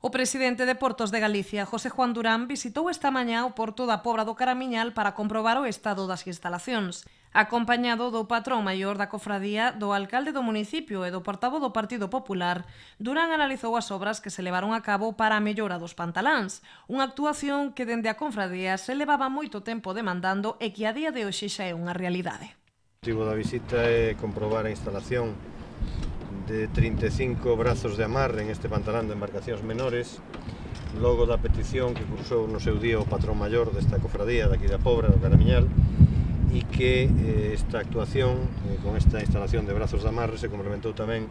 O presidente de Portos de Galicia, José Juan Durán, visitou esta mañá o porto da Pobra do Caramiñal para comprobar o estado das instalacións. Acompañado do patrón maior da cofradía, do alcalde do municipio e do portavoz do Partido Popular, Durán analizou as obras que se levaron a cabo para a mellora dos pantaláns, unha actuación que dende a cofradía se levaba moito tempo demandando e que a día de hoxe xa é unha realidade. O motivo da visita é comprobar a instalación de 35 brazos de amarre en este pantalán de embarcacións menores, logo da petición que cursou no seu día o patrón maior desta cofradía daqui da Pobra, do Caramiñal, e que esta actuación, con esta instalación de brazos de amarre, se complementou tamén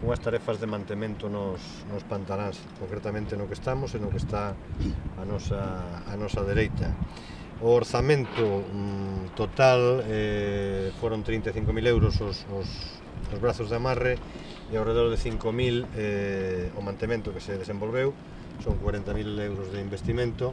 con as tarefas de mantemento nos pantaláns, concretamente no que estamos e no que está a nosa dereita. O orzamento total foron 35.000 euros os brazos de amarre e ao redor de 5.000 o mantemento que se desenvolveu, son 40.000 euros de investimento.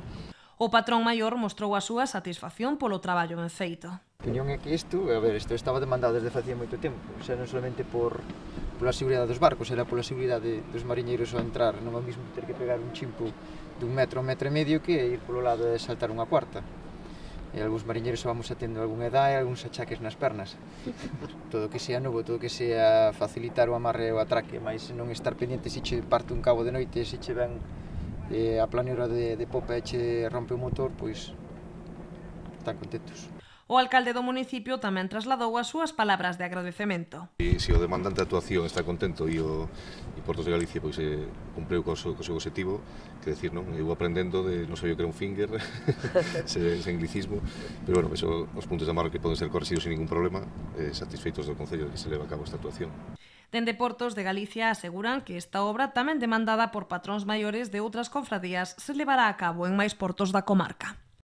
O patrón maior mostrou a súa satisfacción polo traballo ben feito. A opinión é que isto estaba demandado desde facía moito tempo, xa non solamente pola seguridade dos barcos, era pola seguridade dos mariñeiros ao entrar, non é o mesmo ter que pegar un chimpo dun metro, un metro e medio que ir polo lado e saltar unha cuarta. E algúns mariñeiros vamos a tendo algunha edad e algúns achaques nas pernas. Todo que sea novo, todo que sea facilitar o amarre e o atraque, mas non estar pendiente se che parte un cabo de noite, se che ven a planeira de popa e che rompe o motor, pois están contentos. O alcalde do municipio tamén trasladou as súas palabras de agradecemento. Se o demandante de actuación está contento e Portos de Galicia pois cumpriu co seu objetivo, que decir, non? Eu aprendendo non sabía que era un finger, ese anglicismo, pero bueno, os puntos de amarre que poden ser correxidos sin ningún problema, satisfeitos do Concello de que se leva a cabo esta actuación. Dende Portos de Galicia aseguran que esta obra, tamén demandada por patróns maiores de outras confradías, se levará a cabo en máis portos da comarca.